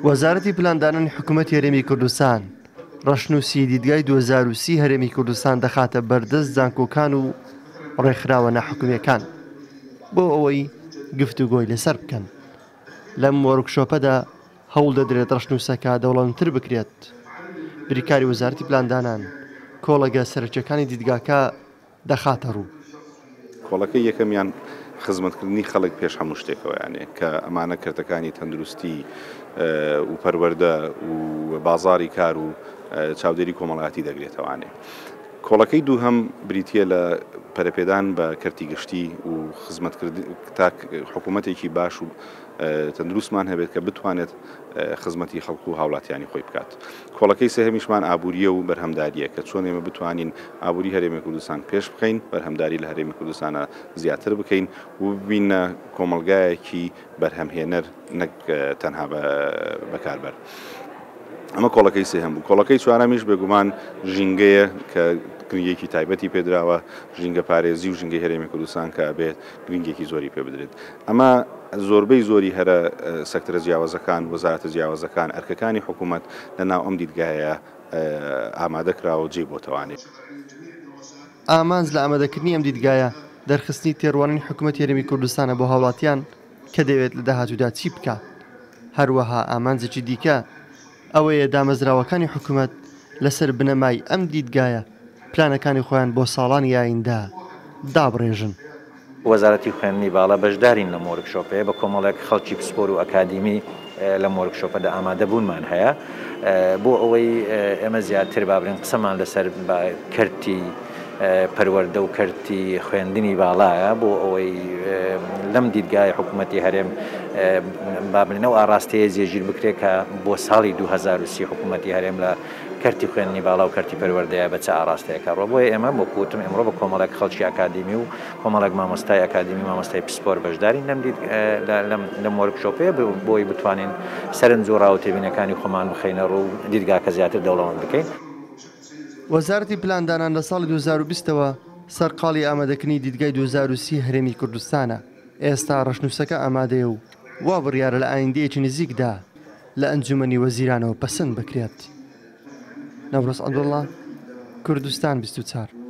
وەزارەتی پلاندانانی حکوومەتی هەرێمی کوردستان ڕەشنووسی دیدگای 2030 هەرێمی کوردستان دەخاتە بەردەست زانکۆکان و ڕێکخراوە ناحکومییەکان بۆ ئەوەی گفتوگۆی لەسەر بکەن. لەم وۆرکشۆپەدا هەوڵ دەدرێت ڕەشنووسەکە دەوڵەمەندتر بکرێت. بریکاری وەزارەتی پلاندانان کۆڵەگە سەرەکییەکانی دیدگاکە دەخاتە ڕوو. کۆڵەکەی یەکەمیان خزمەتکردنی خەڵک پێش هەموو شتێکەوە یانێ کە ئەمانە کەرتەکانی تەندروستی و پەروەردە و بازاڕی کار و چاودێری کۆمەڵایەتی دەگرێتەوانێ. کۆڵەکەی دووهەم بریتییە لە پەرەپێدان بە کەرتی گشتی و خزمەتکردن تا حکوومەتێکی باش و تەندروستمان هەبێت کە بتوانێت خزمەتی خەڵک و هاوڵاتیانی خۆی بکات. کۆڵەکەی سێهەمیشمان ئابوورییە و بەرهەمدارییە کە چۆن ئێمە بتوانین ئابووری هەرێمی کوردستان پێش بخەین، بەرهەمداری لە هەرێمی کوردستانا زیاتر بکەین و ببینە کۆمەڵگایەکی بەرهەمهێنەر نەک تەنها بەکاربەر. ئەمە کۆڵەکەی سێهەم بوو. کۆڵەکەی چوارەمیش بێگومان ژینگەیە کە گرنگییەکی تایبەتی پێدراوە، ژینگەپارێزی و ژینگەی هەرێمی کوردستان کە ئەبێت گرنگییەکی زۆری پێ بدرێت. ئەمە زۆربەی زۆری هەرە سەکتەرە جیاوازەکان، وەزارەتە جیاوازەکان، ئەرکەکانی حکوومەت لە ناو ئەم دیدگایە ئامادە کراوە و جێی بۆتەوانێ. ئامانج لە ئامادەکردنی ئەم دیدگایە، دەرخستنی تێڕوانینی حکوومەتی هەرێمی کوردستانە بۆ هاوڵاتیان کە دەیەوێت لە داهاتوودا چی بکات. هەروەها ئامانجێکی دیکە ئەوەیە دامەزراوەکانی حکومەت لەسەر بنەمای ئەم دیدگایە پلانەکانی خۆیان بۆ ساڵانی ئایندە دابڕێژن. وەزارەتی خوێندنی باڵا بەشدارین لەم وۆرکشۆپەیە بە کۆمەڵێک خەڵکی پسپۆر و ئەکادیمی لەم وۆرکشۆپەدا ئامادەبوونمان هەیە بۆ ئەوەی ئێمە زیاتر با بڵێین قسەمان لەسەر کەرتی پەروەردە و کەرتی خوێندنی باڵایە بۆ ئەوەی لەم دیدگای حکوومەتی هەرێم با بڵێین ئەو ئاڕاستەیە جێگیر بکرێت کە بۆ ساڵی 2030 حکوومەتی هەرێم لە کەرتی خوێندنی باڵا و کەرتی پەروەردەیە بە چ ئاڕاستەیەکە ڕۆ بۆیە ئێمە وەکو وتم ئێمڕۆ بە کۆمەڵێک خەڵکی ئەکادیمی و کۆمەڵێک مامۆستای ئەکادیمی و مامۆستای پسپۆر بەشدارین لەم دید لەم وۆرکشۆپەیە بۆی بتوانین سەرنج و ڕا و تێبینەکانی خۆمان بخەینە ڕوو و دیدگاکە زیاتر دەوڵەمەند بکەین. وەزارەتی پلاندانان لە ساڵی 2020 ەوە سەرقاڵی ئامادەکردنی دیدگای 2030 هەرێمی کوردستانە، ئێستا ڕەشنووسەکە ئامادەیە و وا بڕیارە لە ئایندەیەکی نزیکدا لە ئەنجومەنی وەزیرانەوە پەسەند بکرێت. نەورۆز عەبدوڵڵا، کوردستان 24.